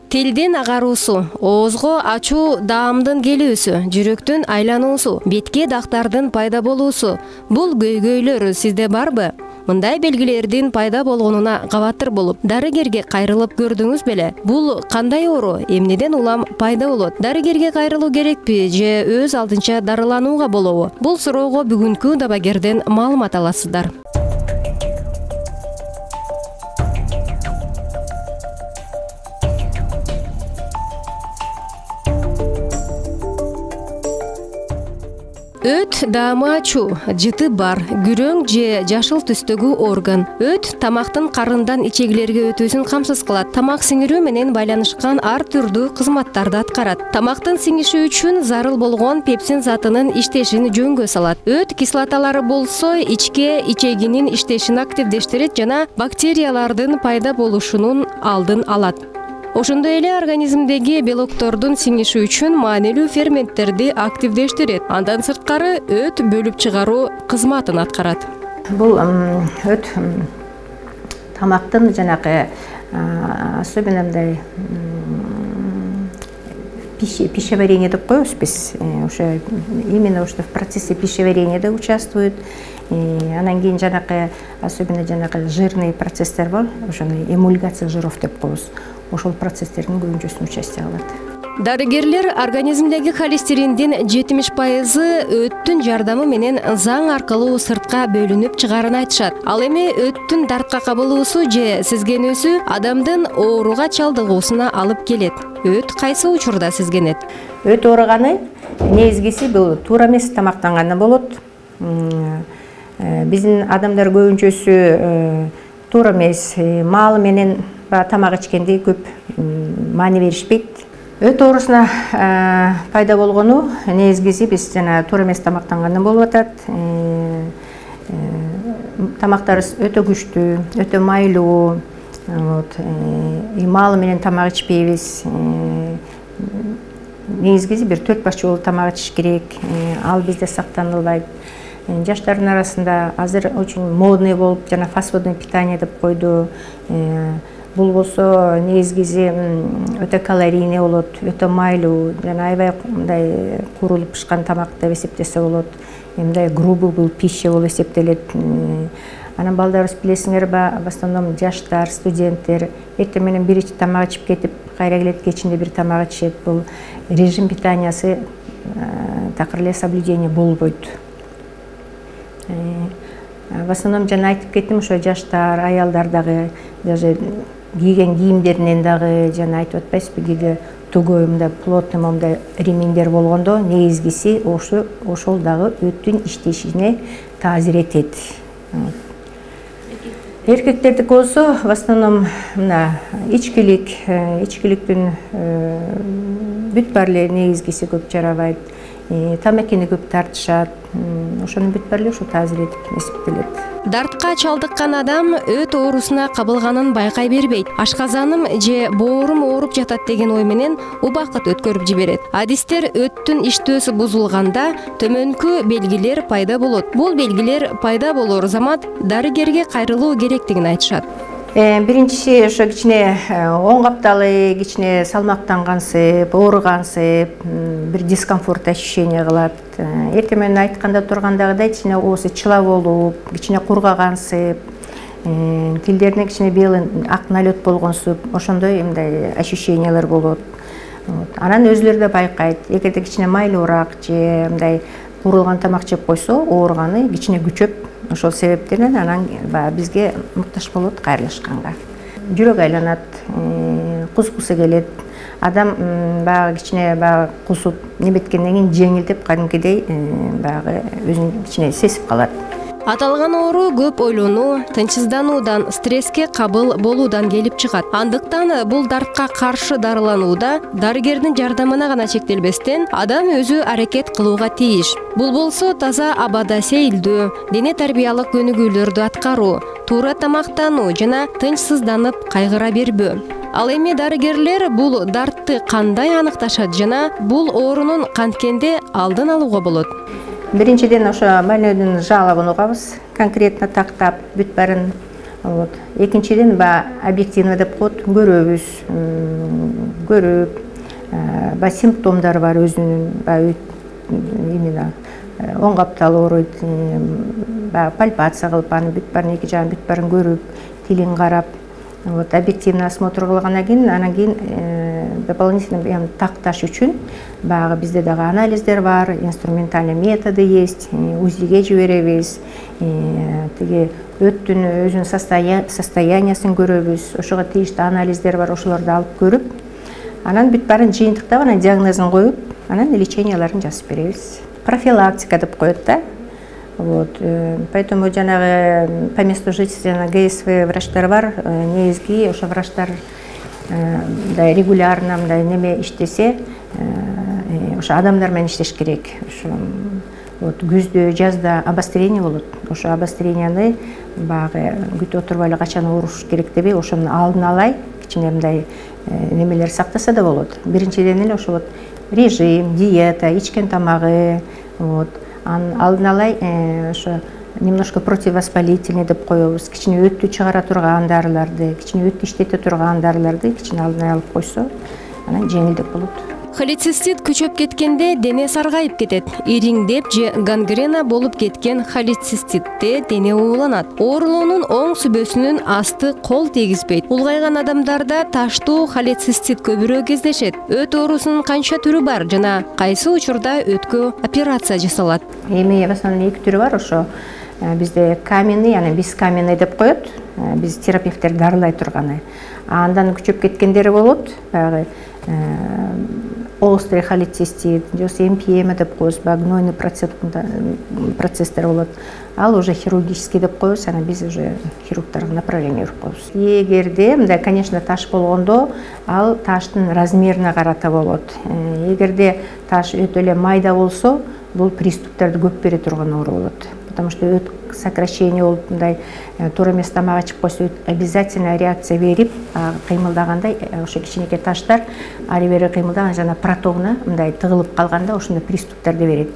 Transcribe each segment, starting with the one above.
Тилдин агаруусу, оозго ачуу даамдын келүүсү, жүрөктүн айлануусу, бетке дактардын пайда болуусу — бул көйгөйлөр сизде барбы? Мындай белгилердин пайда болгонуна кабаттыр болуп, дарыгерге кайрылып көрдүңүз беле? Бул кандай оору, эмнеден улам пайда болот? Дарыгерге кайрылуу керекпи же өз алдынча дарыланууга болобу? Бул суроого бүгүнкү дабагерден маалымат аласыздар. Өт даамы ачуу, жыты бар, күрөң же жашыл түстөгү орган. Өт тамактын карындан ичегилерге өтүүсүн камсыз кылат. Тамак сиңирүү менен байланышкан ар түрдүү кызматтарды аткарат. Тамактын сиңиши үчүн зарыл болгон пепсин затынын иштешин жөнгө салат. Өт кислоталары болсо ичке ичегинин иштешин активдештирет жана бактериялардын пайда болушунун алдын алат. Ошондой эле организмдеги белоктордун сиңиши үчүн маанилүү ферменттерди активдештирет. Андан сырткары өт бөлүп чыгаруу кызматын аткарат. Бул өт тамактын жанагы особенно мындай пищеварение деп коебуз биз. Ошо именно ошо в процессе пищеварения участвует. Анан кийин жанагы особенно жанагы жирный процесстер бар, ошону эмульгация жиров деп коебуз. Ошол процесстердин көбүнчөсүнө участие алат. Дарыгерлер организмдеги холестериндин 70% өттүн жардамы менен заң аркылуу сыртка бөлүнүп чыгаарын айтышат. Ал эми өттүн дартка кабылуусу же сезгенүүсү адамдын ооруга чалдыгуусуна алып келет. Өт кайсы учурда сезгенет? Өт ооруганы негизгиси бул туура эмес тамактанганда болот. Биздин адамдар көбүнчөсү туура эмес мал менен тамак ичкенде көп маани беришпейт. Өт оорусуна пайда болгону негизгиси биз жана туура эмес тамактангандан болуп атат. Тамактарыбыз өтө күчтүү, өтө майлуу. Мал менен тамак ичпейбиз. Негизгиси бир 4 баш жолу тамак ичиш керек. Ал бизде сакталынбайт. Жаштардын арасында азыр очень модный болуп, жана фастфудный питание деп койду. Бул болсо негизгиси өтө калорийный болот, өтө майлуу, жана аябай мындай куурулуп пышкан тамак деп эсептесе болот. Мындай грубый бул пища болуп эсептелет. Анан балдарыбыз билесиңерби, в основном жаштар, студенттер эртең менен бир тамак ичип кетип, кайра келет кечинде бир тамак ичет. Бул режим питаниясы такыр эле соблюдение болбойт. В основном жана айтып кеттим, ошо жаштар, аялдар дагы даже кийген кийимдеринен дагы жана айтып атпайсызбы, кээде тугой мындай плотный мындай ремендер болгондо негизгиси ошол дагы өттүн иштешине таасир этет. Эркектердики болсо в основном мына ичкиликтин бүт баары эле негизгиси көп жарабайт. Тамакини көп тартышат. Ошонун бүт баары эле ошо таасир этип эсептелет. Дартка чалдыккан адам өт оорусуна кабылганын байкай бербейт. Ашказаным же боорум ооруп жатат деген ой менен убакыт өткөрүп жиберет. Адистер өттүн иштөөсү бузулганда төмөнкү белгилер пайда болот. Бул белгилер пайда болор замат дарыгерге кайрылуу керектигин айтышат. Биринчиси ошо кичине оң капталы, кичине салмактангансып, ооругансып, бир дискомфорт ощущение кылат. Эртең менен айтканда тургандагыдай кичине оозу чыла болуп, кичине кургагансып, тилдерине кичине белый ак налет болгонсуп, ошондой мындай ощущениялар болот. Анан өзүлөрү да байкайт. Эгерде кичине майлуураак же мындай куурулган тамак жеп койсо, ооруганы кичине күчөп, ошол себептеринен анан бизге муктаж болот кайрылышканга. Жүрөк айланат, кускусу келет. Адам баягы кичине кусуп неметкенден кийин жеңилдеп кадимкидей баягы өзүн кичине сезип калат. Аталган оору көп ойлонуу, тынчсыздануудан, стресске кабыл болуудан келип чыгат. Андыктан бул дартка каршы дарыланууда дарыгердин жардамына гана чектелбестен адам өзү аракет кылууга тийиш. Бул болсо таза абада сейилдөө, дене тарбиялык өнүгүүлөрдү аткаруу, туура тамактануу жана тынчсызданып кайгыра бербөө. Ал эми дарыгерлер бул дартты кандай аныкташат жана бул оорунун канткенде алдын алууга болот? Биринчиден ошо больнойдун жалобун угабыз, конкретно тактап бүт баарын Вот. Экинчиден объективно деп коет, көрөбүз, көрүп, симптомдор бар өзүнүн, именно оң каптал ооруйт, пальпация кылып, анын бүт баарын, эки жагын бүт баарын көрүп, тилин карап, вот, объективный осмотр кылгандан кийин, анан кийин дополнительно такташ үчүн баягы бизде дагы анализдер бар, инструментальный методы есть, УЗИге жиберебиз, тиги өттүн өзүнүн состояниясын көрөбүз, ошого тийиштүү анализдер бар, ошолорду алып көрүп, анан бүт баарын жыйынтыктап, анан диагнозун коюп, анан леченияларын жазып беребиз. Профилактика деп коет да. Вот. Поэтому жанагы по месту жительства ГСВ врачтар бар, негизги ошо врачтар регулярно мындай неме иштесе, ошо адамдар менен иштеш керек. Ошо вот күздө, жазда обострение болот. Ошо обостренияны баягы күтүп отурбай эле качан ооруш керек деп, ошонун алдын алай, кичине мындай немелер сактаса да болот. Биринчиден эле ошо вот режим, диета, ичкен тамагы, вот. Алдын алай ошо немножко противовоспалительный деп коебуз. Кичине өттү чыгара турган дарыларды, кичине өттү иштете турган дарыларды кичине алдын алып койсо, анан жеңилдеп болот. Холецистит күчөп кеткенде дене саргайып кетет. Ириңдеп же гангрена болуп кеткен холециститте дене ууланат. Оорулуунун оң сүбөсүнүн асты кол тийгизбейт. Улгайган адамдарда таштуу холецистит көбүрөөк кездешет. Өт оорусунун канча түрү бар жана кайсы учурда өткө операция жасалат? Эми в основном эки түрү бар. Ошо бизде каменный, анан бескаменный деп коет. Биз терапевттер дарылай турганы. Андан күчөп кеткендери болот. Баягы острый холецистит, МПМ деп коебуз, гнойный процесстер болот. Ал уже хирургический деп коебуз, анан биз уже хирургдарга направление берип коебуз. Эгерде мындай, конечно, таш болгондо, ал таштын размерине карата болот. Эгерде таш өтө эле майда болсо, бул приступтерди көп бере турган оору болот. Потому что өт сокращение болуп, мындай туура эмес тамак ичип койсо, обязательно реакция берип, кыймылдагандай, ошо кичинекей таштар ары бери кыймылдаган жана протогуна мындай тыгылып калганда ошондой приступтерди берет.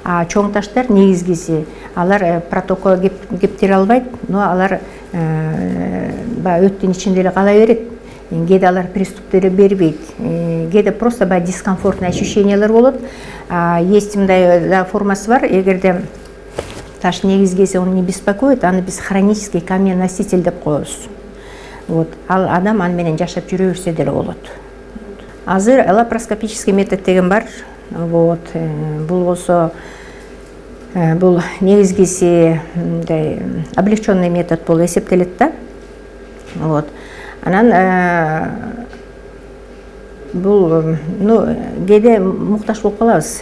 Чоң таштар негизгиси, алар протокко кептире албайт, но алар өттүн ичинде эле кала берет. Кээде алар приступтерди бербейт. Кээде просто дискомфортный ощущениялар болот. Есть мындай формасы бар, эгерде таш негизгиси он не беспокоит, аны биз хронический камень-носитель деп коебуз. Вот. Ал адам аны менен жашап жүрө берсе деле болот. Азыр лапароскопический метод деген бар. Вот. Бул болсо бул негизгиси облегченный метод болуп эсептелет да. Вот. Анан бул кээде муктаж болуп калабыз.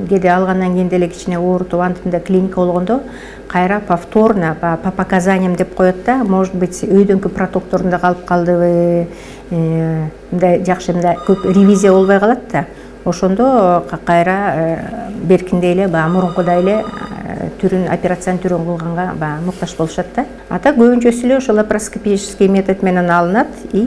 Кээде алгандан кийин деле кичине оорутуп, антында клиника болгондо кайра повторно по показаниям деп коет да, может быть, өйдөнкү протокторунда калып калдыбы, мындай жакшы мындай көп ревизия болбой калат да. Ошондо кайра беркиндей эле мурункудай эле түрүн, операциянын түрүн кылганга муктаж болушат да. Ата көбүнчөсү эле ошо лапароскопический метод менен алынат, и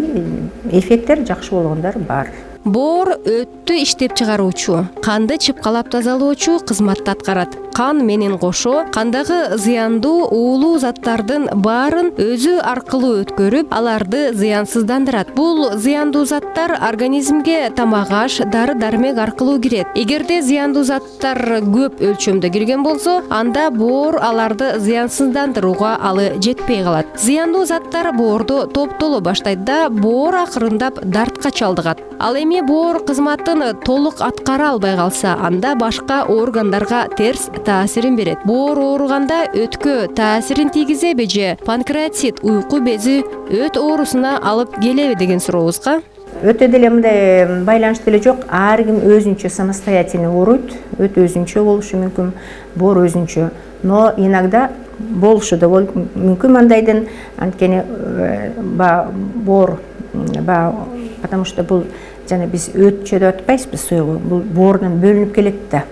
эффекттер жакшы болгондор бар. Боор өттү иштеп чыгаруучу, канды чыпкалап тазалоочу кызматты аткарат. Кан менен кошо кандагы зыяндуу уулуу заттардын баарын өзү аркылуу өткөрүп, аларды зыянсыздандырат. Бул зыяндуу заттар организмге тамак-аш, дары-дармек аркылуу кирет. Эгерде зыяндуу заттар көп өлчөмдө кирген болсо, анда боор аларды зыянсыздандырууга алы жетпей калат. Зыяндуу заттар боорду топтоло баштайт да, боор акырындап дартка чалдыгат. Ал эми боор кызматын толук аткара албай калса, анда башка органдарга терс таасирин берет. Боор ооруганда өткө таасирин тийгизеби же панкреатит, уйку бези өт оорусуна алып келеби деген сурообузга? Өтө деле мындай байланыш деле жок. Ар ким өзүнчө самостоятельно ооруйт. Өт өзүнчө болушу мүмкүн, боор өзүнчө. Но иногда болушу да мүмкүн мындайдын, анткени боор потому что бул жана биз өтчө деп атпайбызбы, суюгу, бул боордон бөлүнүп келет да.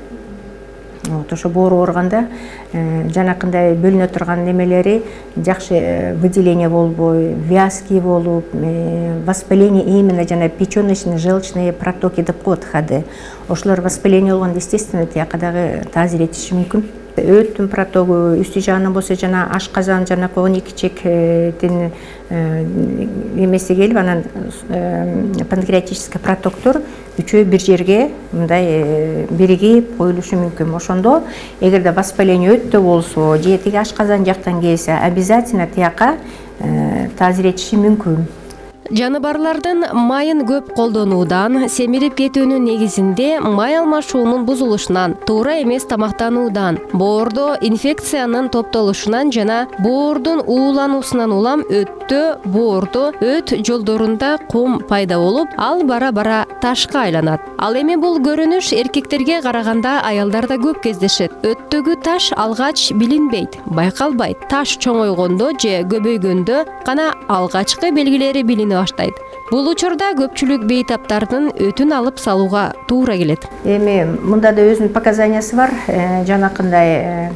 Вот, ошо боор ооруганда жанакындай бөлүнө турган немелери жакшы выделение болбой, вязкий болуп, воспаление именно жана печёночные, желчные протоки деп коет ходы. Ошолор воспаление болгондо, естественно, тияка дагы таасир этиши мүмкүн. Өттүн протогу үстү жагынан болсо жана ашказан жана койгон икичектин эмеси келип, анан панкреатический протоктор үчөө бир жерге мындай биригип коюлушу мүмкүн. Ошондо эгерде воспаление өттө болсо же тиги ашказан жактан келсе, обязательно тияка тазиретиши мүмкүн. Жаныбарлардын майын көп колдонуудан, семирип кетүүнүн негизинде май алмашуунун бузулушунан, туура эмес тамактануудан, боордо инфекциянын топтолушунан жана боордун уулануусунан улам өттө, боордо, өт жолдорунда кум пайда болуп, ал бара-бара ташка айланат. Ал эми бул көрүнүш эркектерге караганда аялдарда көп кездешет. Өттөгү таш алгач билинбейт, байкалбайт. Таш чоңойгондо же көбөйгөндө гана алгачкы белгилери билине баштайт. Бул учурда көпчүлүк бейтаптардын өтүн алып салууга туура келет. Эми мында да өзүнүн показаниясы бар. Жанакындай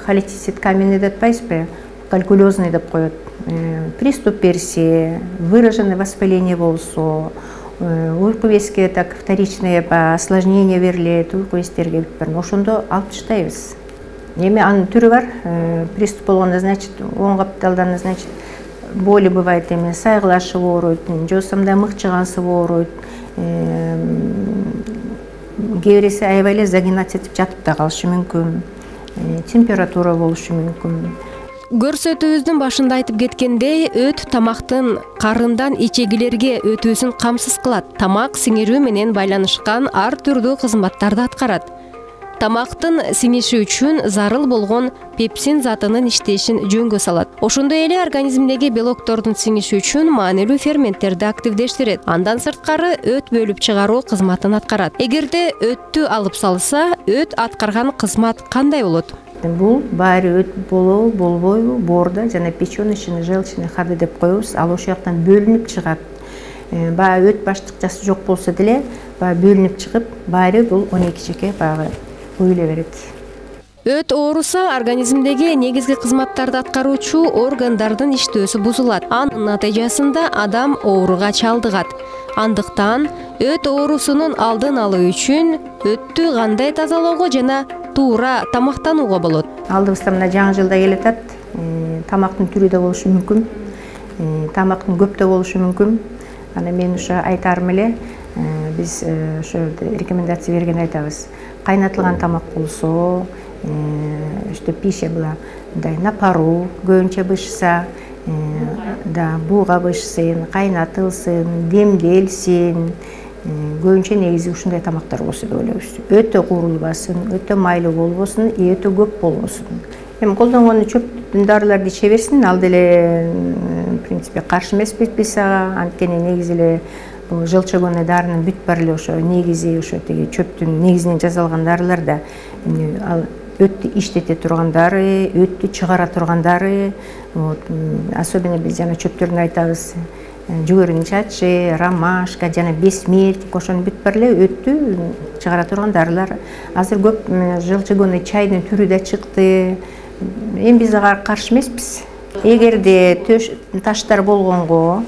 холецистит каменный деп атпайсызбы? Калькулезный деп коет. Приступ берсе, выраженное воспаление болсо, уйку безге так вторичное осложнение берилет, уйку бездерге ошондо алып таштайбыз. Эми анын түрү бар. Приступ болгондо, значит, оң капталдан, значит, боли бывает, эми сайгылашы ооруйт, же болбосо мыкчыгансы ооруйт. Кээ бириси аябай эле загинаться этип жатып да калышы мүмкүн. Температура болушу мүмкүн. Көрсөтүүбүздүн башында айтып кеткендей, өт тамактын карындан ичегилерге өтүүсүн камсыз кылат. Тамак сиңирүү менен байланышкан ар түрдүү кызматтарды аткарат. Тамактын сиңиши үчүн зарыл болгон пепсин затынын иштешин жөнгө салат. Ошондой эле организмдеги белоктордун сиңиши үчүн маанилүү ферменттерди активдештирет. Андан сырткары өт бөлүп чыгаруу кызматын аткарат. Эгерде өттү алып салса, өт аткарган кызмат кандай болот? Бул баары өт болобу, болбойбу, боордо жана печёночный, желчный ходы деп коебуз. Ал ошол жактан бөлүнүп чыгат. Баягы өт баштыкчасы жок болсо деле, баягы бөлүнүп чыгып, баары бул 12 чеке баягы коюла берет. Өт ооруса организмдеги негизги кызматтарды аткаруучу органдардын иштөөсү бузулат. Анын натыйжасында адам ооруга чалдыгат. Андыктан өт оорусунун алдын алуу үчүн өттү кандай тазалоого жана туура тамактанууга болот? Алдыбызда мына жаңы жылда келатат. Тамактын түрү да болушу мүмкүн. Тамактын көп да болушу мүмкүн. Ана мен ошо айтарым эле, биз ошо рекомендация берген айтабыз. Кайнатылган тамак болсо, что пища была на пару, көбүнчө бышса, да буга бышсын, кайнатылсын, демделсин. Көбүнчө негизи ушундай тамактар болсо деп ойлойбуз. Өтө куурулбасын, өтө майлуу болбосун, өтө көп болбосун. Эми колдонгон чөптүн дарыларды иче берсин, ал деле в принципе каршы эмеспиз биз ага. Анткени негизи эле бул желчегонный дарынын бүт баары эле ошо негизи ошо тиги чөптүн негизинен жасалган дарылар да. Ал өттү иштете турган дары, өттү чыгара турган дары. Особенно биз жана чөптөрүн айтабыз. Жүгөрүнүн чачы, ромашка жана бесмертник, ошонун бүт баары эле өттү чыгара турган дарылар. Азыр көп желчегонный чайдын түрү да чыкты. Эми биз ага каршы эмеспиз. Эгерде таштар болгонго,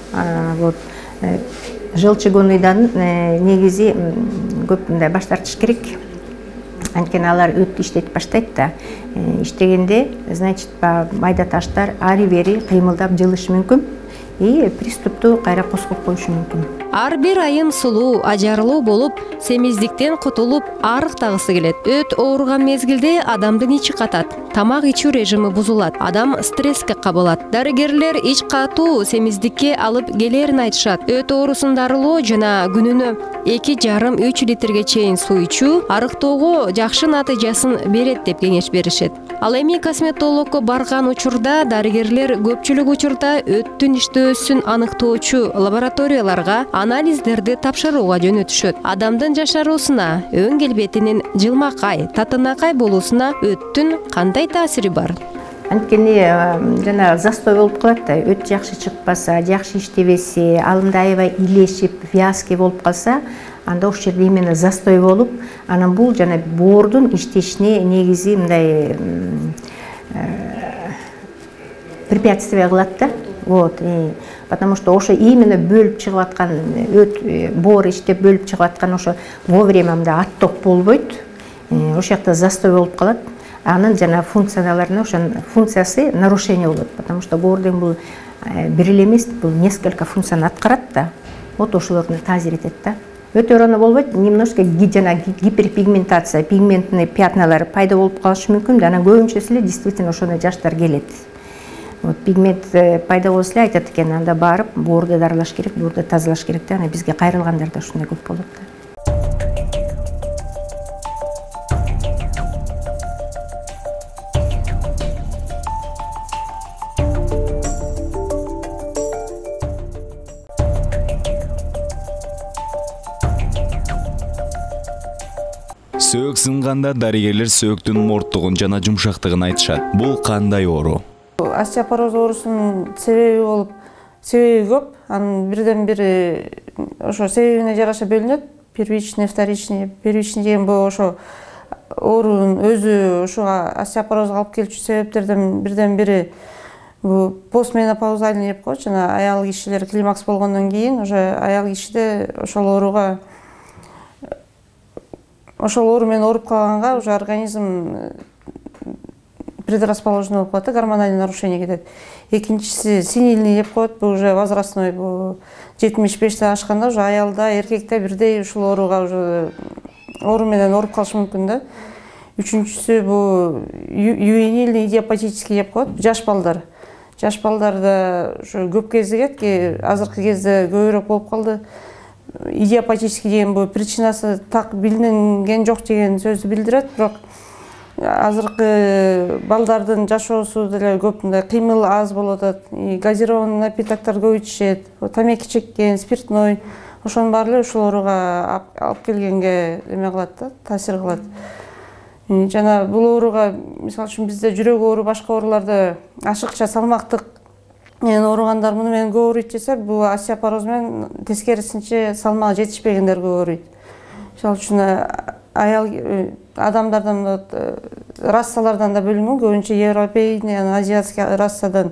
вот желчегонныйдан негизи көп мындай баш тартыш керек. Анткени алар өттү иштетип баштайт да. Иштегенде, значит, майда таштар ары-бери кыймылдап жылышы мүмкүн. И приступту кайра козгоп коюшу мүмкүн. Ар бир айым сулуу, ажарлуу болуп, семиздиктен кутулуп, арыктагысы келет. Өт ооруган мезгилде адамдын ичи катат, тамак ичүү режими бузулат, адам стресске кабылат. Дарыгерлер ич катуу семиздикке алып келерин айтышат. Өт оорусун дарылоо жана күнүнө 2,5–3 литрге чейин суу ичүү арыктоого жакшы натыйжасын берет деп кеңеш беришет. Ал эми косметологко барган учурда дарыгерлер көпчүлүк учурда өттүн иштөөсүн аныктоочу лабораторияларга анализдерди тапшырууга жөнөтүшөт. Адамдын жашаруусуна, өң келбетинин жылмакай, татынакай болуусуна өттүн кандай таасири бар? Анткени жана застой болуп калат да, өт жакшы чыкпаса, жакшы иштебесе, алымда аябай илешип, вязкий болуп калса, анда ошол жерде именно застой болуп, анан бул жана боордун иштешине негизи мындай препятствие кылат да. Вот, потому что ошо именно бөлүп чыгып аткан өт, боор иштеп бөлүп чыгып аткан ошо вовремя мындай отток болбойт. Ошол жакта застой болуп калат. анын жана функцияларына ошонун функциясы нарушение болот, потому что боорден бул бир эле эмес, бул несколько функцияны аткарат да, вот ошолорду таасир этет да. Өтө ыраны болбойт, немножко жана гиперпигментация, пигментный пятналар пайда болуп калышы мүмкүн, анан көбүнчөсү эле действительно ошондой жаштар келет. Вот пигмент пайда болсо эле айтат экен, анда барып боорду дарылаш керек, боорду тазалаш керек да, анан бизге кайрылгандарда ушундай көп болот да. Сөөк сынганда дарыгерлер сөөктүн морттугун жана жумшактыгын айтышат. Бул кандай оору? Остеопороз оорусунун себеби көп. Анын бирден бири ошо себебине жараша бөлүнөт. Первичный, вторичный. Первичный деген бул ошо оорунун өзү ошого остеопорозго алып келчү себептерден бирден бири бул постменопаузальный деп коет, жана аял кишилер климакс болгондон кийин уже аял кишиде ошол оору менен ооруп калганга уже организм предрасположенный болуп калат, гормональный нарушение кетет. Экинчиси сенильный деп коет, бул уже возрастной, бул 75 ашканда уже аялда, эркекте бирдей ушул ооруга уже оору менен ооруп калышы мүмкүн да. Үчүнчүсү бул ювенильный идиопатический деп коет, жаш балдар. Жаш балдарда ушу көп кезигет, азыркы кезде көбүрөөк болуп калды. Идиопатический деген бул причинасы так билинген жок деген сөздү билдирет, бирок азыркы балдардын жашоосу деле көп мындай кыймыл аз болуп атат, газированный напитоктор көп ичишет, тамеки чеккен, спиртной, ошонун баары эле ушул ооруга алып келгенге эме кылат да, таасир кылат. Жана бул ооруга мисалы үчүн бизде жүрөк оору, башка ооруларды ашыкча салмактык ооругандар муну менен көп ооруйт десе, бул остеопороз менен тескерисинче салмагы жетишпегендер көп ооруйт. Мисалы үчүн аял адамдардан рассалардан да бөлүнгөн, көбүнчө европейный, азиатский рассадан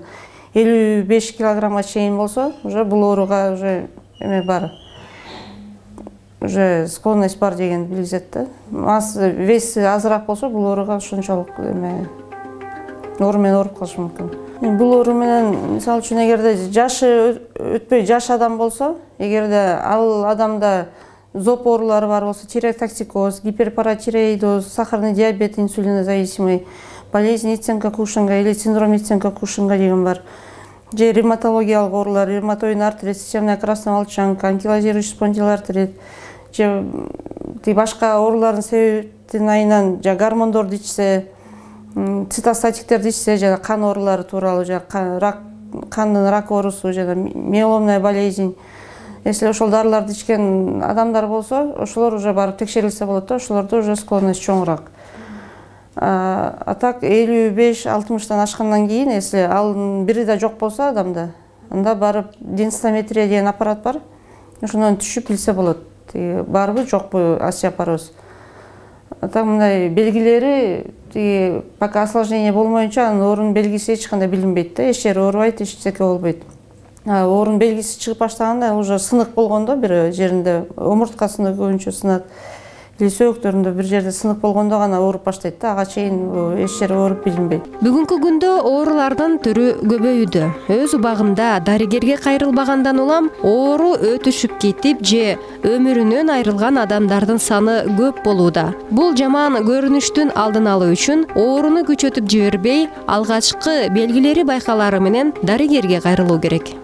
55 килограммга чейин болсо, уже бул ооруга уже эме бар. Уже склонность бар деген билгизет да. Веси азыраак болсо, бул ооруга ошончолук оору менен ооруп калышы мүмкүн. Бул оору менен мисалы үчүн эгерде жашы өтпөй жаш адам болсо, эгерде ал адамда зоб оорулары бар болсо, тиреотоксикоз, гиперпаратиреидоз, сахарный диабет, инсулинозависимый, болезнь Ниценко-Кушинга или синдром Ниценко-Кушинга деген бар. Же ревматологиялык оорулар, ревматоидный артрит, системная красная волчанка, анкилозирующий спондилоартрит, же башка оорулардын себептин айынан же гормондорду ичсе, цитостатиктерди ичсе, жана кан оорулары тууралуу, же кандын рак оорусу, жана миеломная болезнь. Если ошол дарыларды ичкен адамдар болсо, ошолор уже барып текшерилсе болот да, ошолордо уже склонность чоңураак. А так 55-60 ашкандан кийин, если ал бири да жок болсо адамда, анда барып денсиметрия деген аппарат бар, ошондон түшүп билсе болот, барбы жокпу остеопороз. А так мындай белгилери, пока осложнение болмоюнча, анын оорунун белгиси эч кандай билинбейт да, эч жери оорубайт, эчтеке болбойт. Оорунун белгиси чыгып баштаганда уже сынык болгондо, бир жеринде омурткасында көбүнчө сынат, или сөөктөрүндө бир жерде сынык болгондо гана ооруп баштайт да, ага чейин эч жери ооруп билинбейт. Бүгүнкү күндө оорулардын түрү көбөйүүдө. Өз убагымда дарыгерге кайрылбагандан улам оору өтүшүп кетип же өмүрүнөн айрылган адамдардын саны көп болууда. Бул жаман көрүнүштүн алдын алуу үчүн ооруну күчөтүп жибербей, алгачкы белгилери байкалары менен дарыгерге кайрылуу керек.